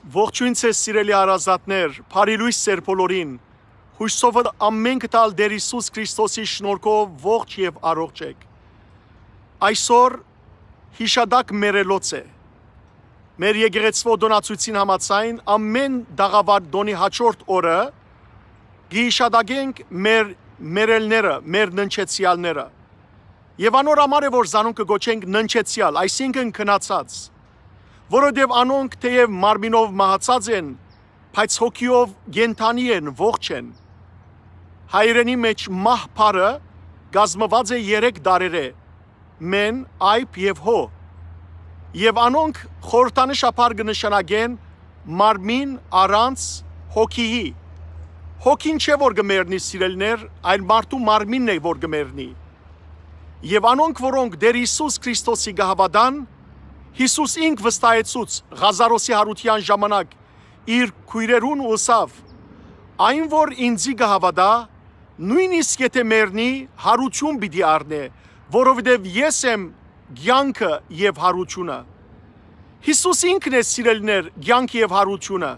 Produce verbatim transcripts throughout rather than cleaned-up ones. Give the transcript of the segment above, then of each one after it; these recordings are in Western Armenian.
Ողջոյն ձեզ, սիրելի հարազատներ, բարի լոյս ձեր բոլորին։ Յուսով ամէնքը տալ Տէր Յիսուս Քրիստոսի շնորհքով ողջ եւ առողջ էք։ Այսօր յիշատակ մեռելոց է։ Մեր եկեղեցւոյ տօնացոյցին համաձայն, ամէն տաղաւար տօնի հաջորդ օրը կը յիշատակենք մեր մեռելները, մեր ննջեցեալները։ Եւ անոր համար է, որ զանոնք կը կոչենք ննջեցեալ, այսինքն՝ քնացած, որովհետեւ անոնք թէեւ մարմինով մահացած են, բայց հոգիով կենդանի են, ողջ են։ Հայերէնի մէջ մահ բառը կազմուած է երեք տառերէ՝ մեն, այբ եւ հո։ Եւ անոնք խորհրդանշաբար կը նշանակեն մարմին առանց հոգիի։ Հոգին չէ, որ կը մեռնի, սիրելիներ, այլ մարդու մարմինն է, որ կը մեռնի։ Եւ անոնք, որոնք Տէր Յիսուս Քրիստոսի կը հաւատան, Յիսուս ինք վստահեցուց Ղազարոսի յարութեան ժամանակ իր քոյրերուն ու ըսաւ. «Այն որ ինծի կը հաւատայ, նոյնիսկ եթէ մեռնի, յարութիւն պիտի առնէ, որովհետեւ ես եմ կեանքը եւ յարութիւնը»։ Յիսուս ինքն է, սիրելիներ, կեանքը եւ յարութիւնը։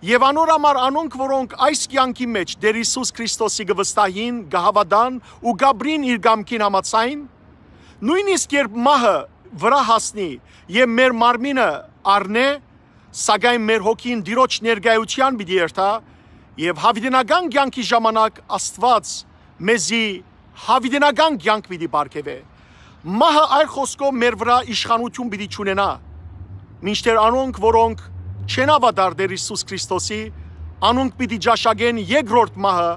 Եւ անոր համար անոնք, որոնք այս կեանքի մէջ Տէր Յիսուս Քրիստոսի կը վստահին, կը հաւատան ու կ'ապրին իր կամքին համաձայն, նոյնիսկ երբ մահը վրայ հասնի եւ մեր մարմինը առնէ, սակայն մեր հոգին Տիրոջ ներկայութեան պիտի երթայ եւ յաւիտենական կեանքի ժամանակ Աստուած մեզի յաւիտենական կեանք պիտի պարգեւէ։ Մահը, այլ խօսքով, մեր վրայ իշխանութիւն պիտի չունենայ, մինչդեռ անոնք, որոնք չեն հաւատար Տէր Յիսուս Քրիստոսի, անոնք պիտի ճաշակեն երկրորդ մահը,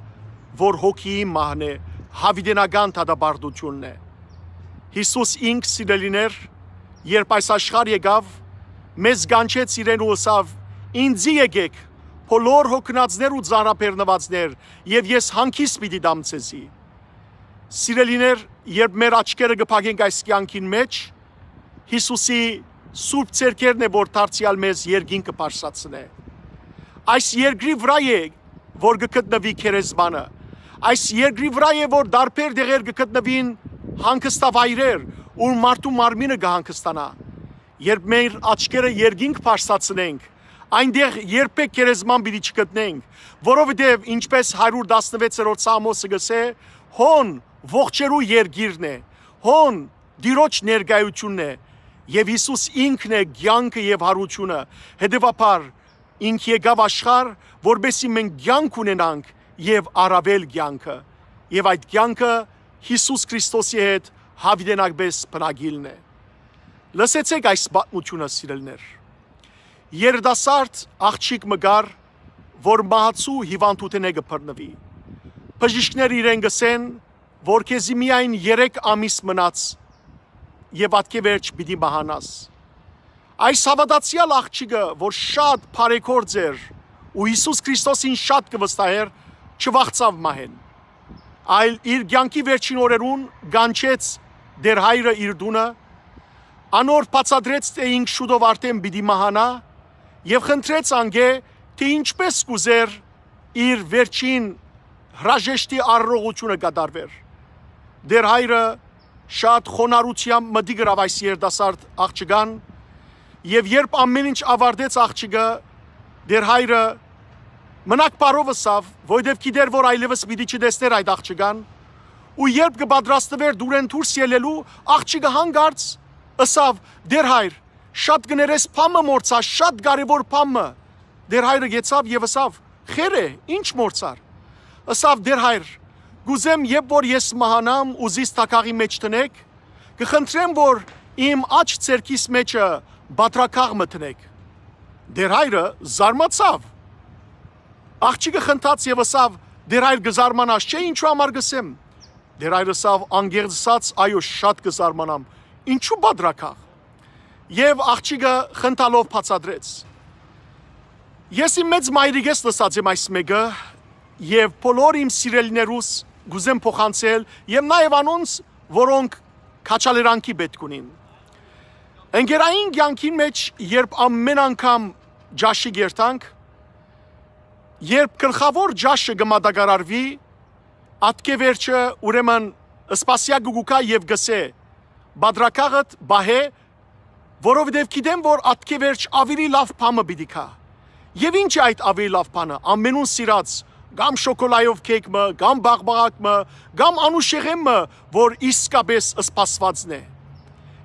որ հոգիի մահն է, յաւիտենական դատապարտութիւնն է։ Յիսուս ինք, սիրելիներ, երբ այս աշխարհ եկաւ, մեզ կանչեց իրեն ու ըսաւ. «Ինծի եկէք, բոլոր հոգնածներ ու ծանրաբեռնուածներ, եւ ես հանգիստ պիտի տամ ձեզի»։ Սիրելիներ, երբ մեր աչքերը կը փակենք այս կեանքին մէջ, Յիսուսի սուրբ ձեռքերն է, որ դարձեալ մեզ երկինքը բարձրացնէ։ Այս երկրի վրայ է, որ կը գտնուի գերեզմանը։ Այս երկրի վրայ է, որ տարբեր տեղեր կը գտնուին հանգստավայրեր, ուր մարդու մարմինը կը հանգստանայ։ Երբ մեր աչքերը երկինք բարձրացնենք, այնտեղ երբեք գերեզման պիտի չգտնենք, որովհետեւ, ինչպես հարիւր տասնվեցերորդ Սաղմոսը կ'ըսէ, հոն ողջերու երկիրն է, հոն Տիրոջ ներկայութիւնն է, եւ Յիսուս ինքն է կեանքը եւ յարութիւնը։ Հետեւաբար, ինք եկաւ աշխարհ, որպեսզի մենք կեանք ունենանք եւ առաւել կեանքը, եւ այդ կեանքը Յիսուս Քրիստոսի հետ յաւիտենապէս բնակիլն է։ Լսեցէք այս պատմութիւնը, սիրելիներ։ Երիտասարդ աղջիկ մը կար, որ մահացու հիւանդութենէ կը բռնուի։ Բժիշկները իրեն կ'ըսեն, որ քեզի միայն երեք ամիս մնաց եւ ատկէ վերջ պիտի մահանաս։ Այս հաւատացեալ աղջիկը, որ շատ բարեգործ էր ու Յիսուս Քրիստոսին շատ կը վստահէր, չվախցաւ մահէն, այլ իր կեանքի վերջին օրերուն կանչեց Տէր հայրը իր տունը, անոր բացատրեց, թէ ինք շուտով արդէն պիտի մահանայ, եւ խնդրեց անկէ, թէ ինչպէս կ'ուզէր իր վերջին հրաժեշտի արարողութիւնը կատարուէր։ Տէր հայրը շատ խոնարհութեամբ մտիկ ըրաւ այս երիտասարդ աղջկան, եւ երբ ամէն ինչ աւարտեց աղջիկը, Տէր հայրը մնակ բարով ըսաւ, որովհետեւ գիտէր, որ այլեւս պիտի չտեսնէր այդ աղջկան, ու երբ կը պատրաստուէր դուրէն դուրս ելլելու, աղջիկը հանկարծ ըսաւ. «Տէր հայր, շատ կներես, բան մը մոռցայ, շատ կարեւոր բան մը»։ Տէր հայրը գեցաւ եւ ըսաւ. «Խեր է, ի՞նչ մոռցար»։ Ըսաւ. «Տէր հայր, կ'ուզեմ, երբ որ ես մահանամ ու զիս թագաղի մէջ դնէք, կը խնդրեմ, որ իմ աջ ձեռքիս մէջը պատրակաղ մը դնէք»։ Տէր հայրը զարմացաւ։ Աղջիկը խնդաց եւ ըսաւ. «Տէր հայր, կը զարմանաս, չէ՞, ինչու համար կ'ըսեմ»։ Տէր հայրը ըսաւ. «Անկեղծ ըսած, այո, շատ կը զարմանամ։ Ինչու պատրակաղ»։ Եւ աղջիկը խնդալով բացատրեց. «Ես իմ մեծ մայրիկէս լսած եմ այս մէկը, եւ բոլոր իմ սիրելիներուս կ'ուզեմ փոխանցել, եւ նաեւ անոնց, որոնք քաջալերանքի պէտք ունին։ Ընկերային կեանքին մէջ, երբ ամէն անգամ ճաշի կ'երթանք, երբ գլխաւոր ճաշը կը մատակարարուի, ատկէ վերջը, ուրեմն, սպասեակը կու գայ եւ կ'ըսէ. "Պատրակաղդ պահէ, որովհետեւ գիտեմ, որ ատկէ վերջ աւելի լաւ բան մը պիտի գայ"։ Եւ ի՞նչ է այդ աւելի լաւ բանը, ամենուն սիրած, կամ շոկոլայով քեյք մը, կամ բաղբաղակ մը, կամ անուշեղէն մը, որ իսկապէս սպասուածն է։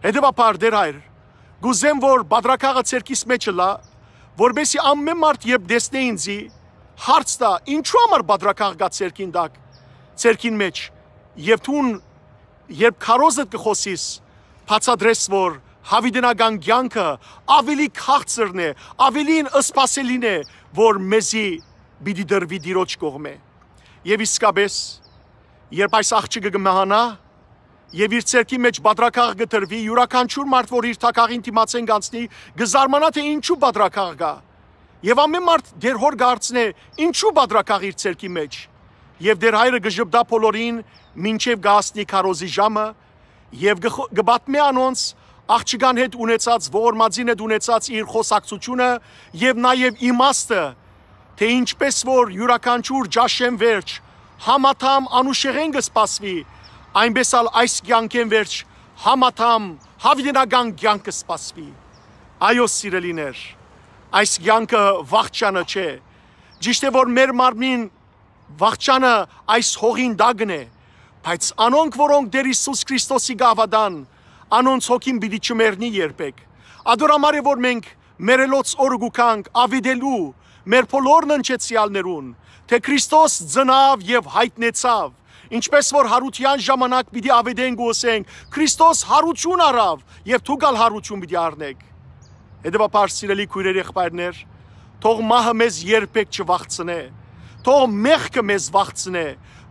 Հետեւաբար, Տէր Հայր, կ'ուզեմ, որ պատրակաղը ձեռքիս մէջ ըլլայ, որպէսզի ամէն մարդ, երբ տեսնէ ինծի, հարց տայ, ինչո՞ւ համար պատրակաղ կայ ձեռքին տակ, ձեռքին մէջ, եւ դուն, երբ քարոզդ կը խօսիս, բացատրես, որ յաւիտենական կեանքը աւելի քաղցրն է, աւելին սպասելին է, որ մեզի պիտի տրուի Տիրոջ կողմէ։ Եւ իսկապէս, երբ այս աղջիկը կը մահանայ, եւ իր ձեռքի մէջ պատրակաղ կը տրուի, իւրաքանչիւր մարդ, որ իր թագաղին դիմացէն կ'անցնի, կը զարմանայ, թէ ինչու պատրակաղ կայ։ Եւ ամէն մարդ Տէր Հօր կը հարցնէ, ինչու պատրակաղ իր ձեռքի մէջ։ Եւ Տէր Հայրը կը ժպտայ բոլորին, մինչեւ կը հասնի քարոզի ժամը, եւ կը խ-, կը պատմէ անոնց աղջկան հետ ունեցած, ողորմածին հետ ունեցած իր խօսակցութիւնը եւ նաեւ իմաստը, թէ ինչպէս որ իւրաքանչիւր ճաշէն վերջ համադամ անուշեղէն կը սպասուի, այնպէս ալ այս կեանքէն վերջ համադամ յաւիտենական կեանքը սպասուի։ Այո, սիրելիներ, այս կեանքը վախճանը չէ։ Ճիշդ է, որ մեր մարմնին վախճանը այս հողին տակն է, բայց անոնք, որոնք Տէր Յիսուս Քրիստոսի կը հաւատան, անոնց հոգին պիտի չմեռնի երբեք։ Ատոր համար է, որ մենք մեռելոց օրը կու գանք աւետելու մեր բոլոր ննջեցեալներուն, թէ Քրիստոս ծնաւ եւ յայտնեցաւ, ինչպէս որ յարութեան ժամանակ պիտի աւետենք ու ըսենք. «Քրիստոս յարութիւն առաւ, եւ դուք ալ յարութիւն պիտի առնէք»։ Հետեւաբար, սիրելի քոյրեր, եղբայրներ, թող մահը մեզ երբեք չվախցնէ, թող մեղքը մեզ վախցնէ,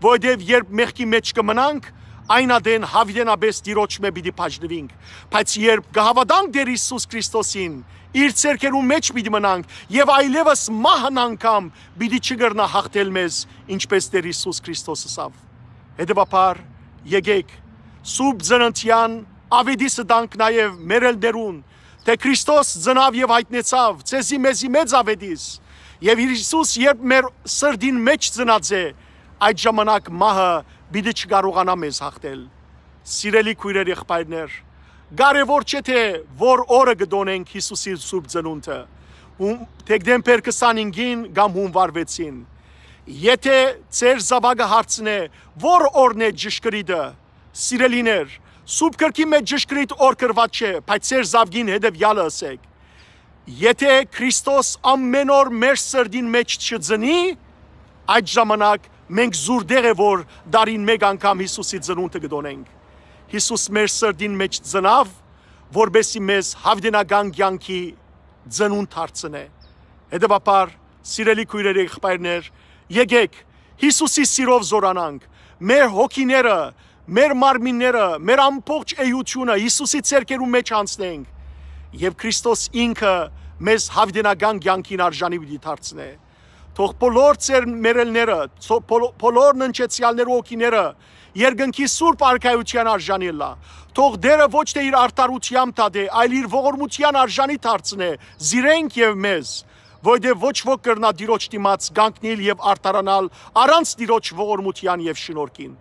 որովհետեւ երբ մեղքի մէջ կը մնանք, այն ատեն յաւիտենապէս Տիրոջմէ պիտի բաժնուինք, բայց երբ կը հաւատանք Տէր Յիսուս Քրիստոսին, իր ձեռքերուն մէջ պիտի մնանք եւ այլեւս մահն անգամ պիտի չկրնայ յաղթել մեզ, ինչպէս Տէր Յիսուս Քրիստոս ըսաւ։ Հետեւաբար, եկէք, Սուրբ Ծննդեան աւետիսը տանք նաեւ մեռելներուն, թէ Քրիստոս ծնաւ եւ յայտնեցաւ, ձեզի մեզի մեծ աւետիս, եւ Յիսուս երբ մեր սրտին մէջ ծնած է, այդ ժամանակ մահը պիտի չկարողանայ մեզ յաղթել։ Սիրելի քոյրեր, եղբայրներ, կարեւոր չէ թէ որ օրը կը տօնենք Յիսուսի Սուրբ Ծնունդը, հուն-, դեկտեմբեր քսանհինգին կամ հունուար վեցին։ Եթէ ձեր զաւակը հարցնէ, որ օրն է ճշգրիտը, սիրելիներ, Սուրբ Գրքի մէջ ճշգրիտ օր գրուած չէ, բայց ձեր զաւկին հետեւեալը ըսէք. «Եթէ Քրիստոս ամէն օր մեր սրտին մէջ չծնի, այդ ժամանակ մենք զուր տեղ է, որ տարին մէկ անգամ Յիսուսի ծնունդը կը տօնենք»։ Յիսուս մեր սրտին մէջ ծնաւ, որպէսզի մեզ յաւիտենական կեանքի ծնունդ դարձնէ։ Հետեւաբար, սիրելի քոյրեր, եղբայրներ, եկէք, Յիսուսի սիրով զօրանանք, մեր հոգիները, մեր մարմինները, մեր ամբողջ էությունը Յիսուսի ձեռքերուն մէջ յանցնենք, եւ Քրիստոս ինքը մեզ յաւիտենական կեանքին արժանի պիտի դարձնէ։ Թող բոլոր ձեր մեռելները, ցո-, բոլ-, բոլոր ննջեցեալներու հոգիները երկնքի սուրբ արքայութեան արժանի ըլլայ։ Թող Տէրը ոչ թէ իր արդարութեամբ դատէ, այլ իր ողորմութեան արժանի դարձնէ զիրենք եւ մեզ, որովհետեւ ոչ ոք կրնայ Տիրոջ դիմաց կանգնիլ եւ արդարանալ առանց Տիրոջ ողորմութեան եւ շնորհքին։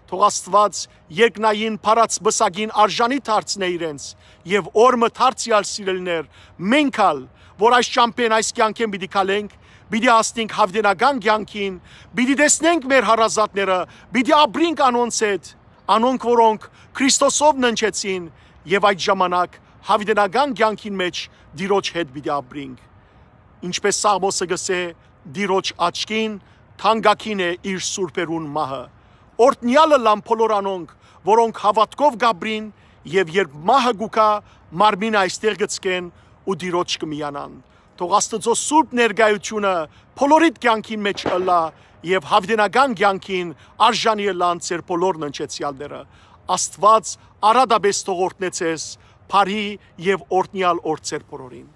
Թող Աստուած երկնային փառաց պսակին արժանի դարձնէ իրենց, եւ օր մը դարձեալ, սիրելիներ, մենք ալ, որ այս ճամբէն, այս կեանքէն պիտի քալենք, պիտի հասնենք յաւիտենական կեանքին, պիտի տեսնենք մեր հարազատները, պիտի ապրինք անոնց հետ, անոնք, որոնք Քրիստոսով ննջեցին, եւ այդ ժամանակ յաւիտենական կեանքին մէջ Տիրոջ հետ պիտի ապրինք։ Ինչպէս Սաղմոսը կ'ըսէ, Տիրոջ աչքին թանկագին է իր սուրբերուն մահը։ Օրհնեալը լան բոլոր անոնք, որոնք հաւատքով կ'ապրին, եւ երբ մահը կու գայ, մարմինը այստեղ կը ցկեն ու Տիրոջ կը միանան։ Թող Աստուծոյ սուրբ ներկայութիւնը բոլորիդ կեանքին մէջ ըլլայ եւ յաւիտենական կեանքին արժանի ըլլան ձեր բոլոր ննջեցեալները։ Աստուած արատապէս թող օրհնէ ձեզ, բարի եւ օրհնեալ օր ձեր բոլորին։